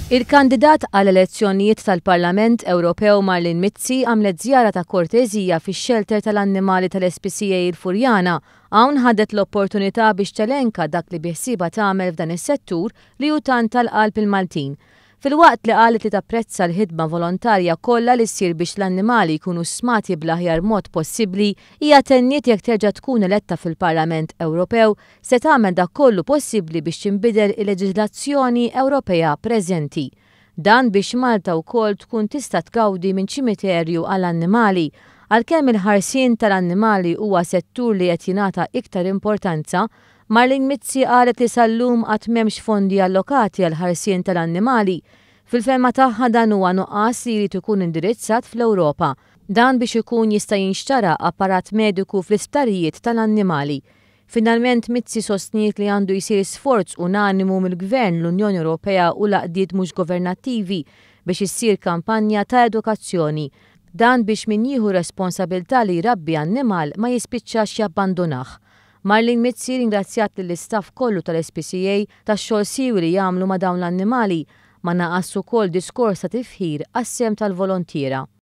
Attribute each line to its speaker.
Speaker 1: Il-kandidat għall-elezzjonijiet tal-Parlament Ewropew Marlene Mizzi għamlet żjara ta' korteżija fix-xelter tal-annimali tal-SPCA il-Furjana. Hawn ħadet l-opportunità biex telenka dak li biħsiebha tagħmel f'dan is-settur li hu tant għal qalb il-Maltin. Filwaqt li qalet li tapprezza l-ħidma volontarja kollha li ssir biex l-annimali jkunu stmati bl-aħjar mod possibbli, hija tenniet jekk terġa' tkun eletta fil-Parlament Ewropew se tagħmel dak kollu possibbli biex tinbidel il-leġiżlazzjoni Ewropea preżenti. Dan biex Malta wkoll tkun tista' tgawdi minn ċimiterju għall-annimali. Għalkemm il-ħarsien tal-annimali huwa settur li qed jingħata iktar importanza, Marlene Mizzi qalet li sal-lum għad m'hemmx fondi allokati għall-ħarsien tal-annimali. Fil-fehma tagħha dan huwa nuqqas li jrid ikun indirizzat fl-Ewropa. Dan biex ikun jista' jinxtara apparat mediku fl-isptarijiet tal-annimali. Finalment Mizzi sostniet li għandu jsir sforz unanimu mill-Gvern, l-Unjoni Ewropea u l-għaqdiet mhux governattivi biex issir kampanja ta' edukazzjoni. Dan biex min jieħu responsabilità li jrabbi annimal ma jispiċċax jabbandunah. Marlene Mizzi ringrazzjat lill-istaff kollu tal-SPCA tax-xogħol siewi li jagħmlu ma' dawn l-annimali. Ma naqas ukoll diskors ta' tifħir għas-sehem tal-volontiera.